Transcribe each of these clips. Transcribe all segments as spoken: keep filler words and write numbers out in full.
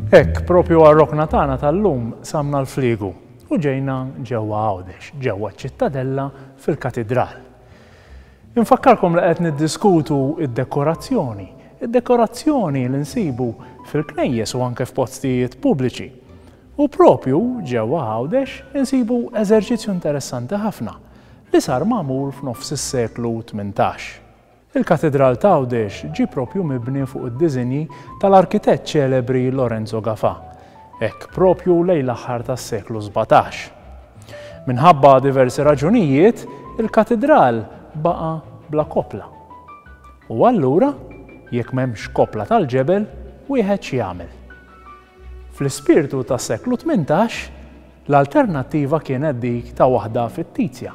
Hekk, propju għar-rokna tagħna tal-lum qsamna l-fliegu u ġejna ġewwa Għawdex, ġewwa ċ-Ċittadella fil-Katidral. Infakkarkom li qed niddiskutu id-dekorazzjoni, id-dekorazzjoni li nsibu fil-knejjes u anke f'postijiet pubbliċi. U propju ġewwa Għawdex insibu eżerċizzju interessanti ħafna li sar magħmul f'nofs is-seklu tmintax. Il-Katidral ta' Għawdex ġie propju mibni fuq id-diżinji tal-arkitett ċelebri Lorenzo Gafà, hekk propju lejn l-aħħar tas-seklu sbatax. Minħabba diversi raġunijiet, il-katidral baqa' bla kopla. U allura, jekk m'hemmx kopla tal-ġebel, wieħed x'jagħmel? Fl-ispirtu tas-seklu tmintax, l-alternattiva kienet dik ta' waħda fittizja.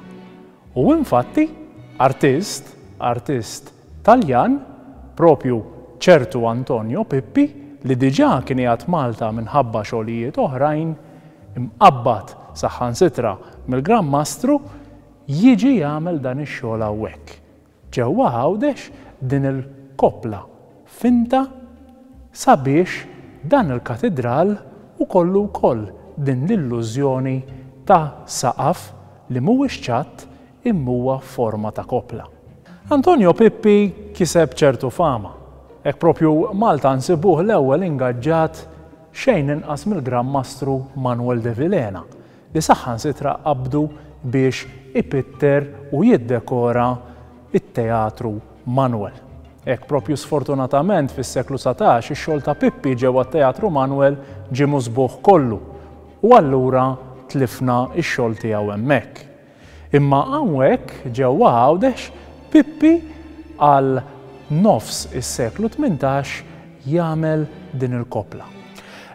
U infatti, artist, artist Taljan, propju ċertu Antonio Pippi, li diġà kien qiegħed Malta minħabba xogħlijiet oħrajn, imqabbad saħansitra mill-Gran Mastru, jiġi jagħmel dan ix-xogħol hawnhekk. Ġewwa Għawdex din il-kopla finta sabiex dan il-katidral u kollu wkoll din l-illużjoni ta' saqaf li mhuwiex ċatt imma huwa forma ta' kopla. Antonio Pippi kiseb ċertu fama. Hekk propju Malta nsibuh l-ewwel ingaġġat xejn inqas mill-Gran Mastru Manuel de Vilhena, li saħansitra qabdu biex ipitter u jiddekora it-Teatru Manuel. Hekk propju sfortunatament fis-seklu satax ix-xogħol ta' Pippi ġewwa t-Teatru Manuel ġie musbuħ kollu u allura tlifna x-xogħol tiegħu hemmhekk. Imma hawnhekk ġewwa Għawdex Pippi għal nofs is-seklu tmintax jagħmel din il-kopla.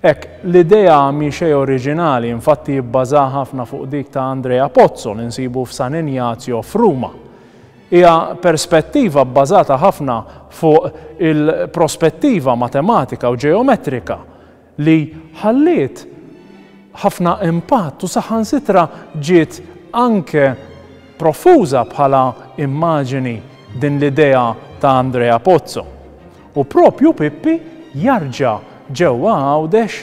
Hekk, l-idea mhi xejn oriġinali, infatti jibbaża ħafna fuq dik ta' Andrea Pozzo li nsibu f'San Ignazio f'Ruma. Hija perspettiva bbażata ħafna fuq il-prospettiva matematika u ġeometrika li ħalliet ħafna impatt u saħansitra ġiet anke profuża bħala immaġini din l-idea ta' Andrea Pozzo. U propju Pippi jarġa' ġewwa Għawdex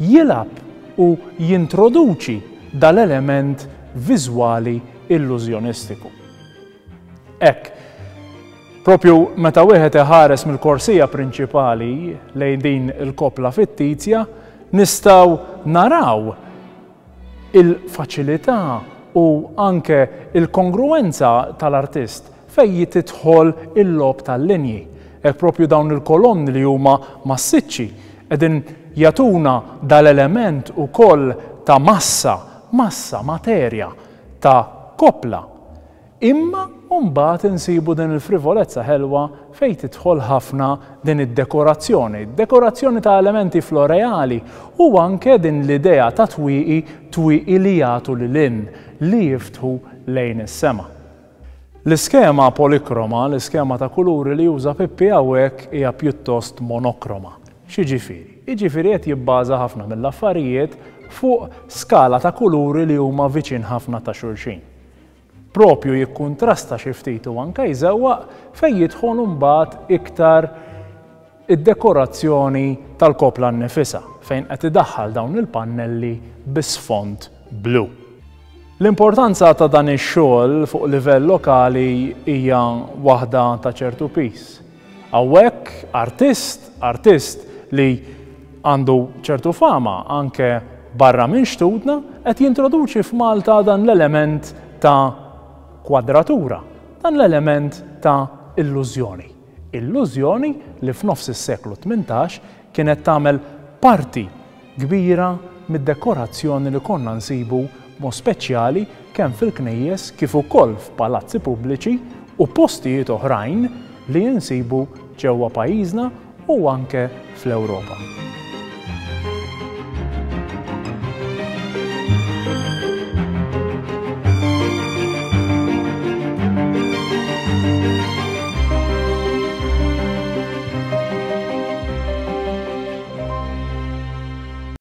jilgħab u jintroduċi dal-element viżwali illużjonistiku. Hekk, propju meta wieħed iħares mill-korsija prinċipali lejn din il-kopla fittizja, nistgħu naraw il-faċilità u anke il-kongruenza tal-artist fejn tidħol il-logħob tal-linji. Hekk propju dawn il-kolonni li huma massiċċi qegħdin jagħtuna dal-element ukoll ta' massa, massa, materja, ta' kopla. Imma mbagħad insibu din il-frivolezza ħelwa fejn tidħol ħafna din id-dekorazzjoni, dekorazzjoni ta' elementi floreali u anke din l-idea ta' twieqi, twieqi li jagħtu lil hinn, li jiftħu lejn is-sema. L-iskema polikroma, l-iskema ta' kuluri li juża Pippi hawnhekk hija pjuttost monokroma. X'jiġifieri? Jiġifieri qed jibbaża ħafna mill-affarijiet fuq skala ta' kuluri li huma viċin ħafna ta' xulxin. Propju jikkuntrasta xi ftit u anke jżewwaq fejn jidħol imbagħad iktar id-dekorazzjoni tal-kopla nnifisha fejn qed idaħħal dawn il-pannelli bi sfond blu. L-importanza ta' dan ix-xogħol fuq livell lokali hija waħda ta' ċertu pis. Hawnhekk artist, artist li għandu ċertu fama anke barra minn xtutna qed jintroduċi f'Malta dan l-element ta' kwadratura, dan l-element ta' illużjoni. Illużjoni li f'nofs is-seklu tmintax kienet tagħmel parti kbira mid-dekorazzjoni li konna nsibu mod speċjali kemm fil-knejjes kif ukoll f'palazzi pubbliċi u postijiet oħrajn li jinsibu ġewwa pajjiżna u anke fl-Ewropa.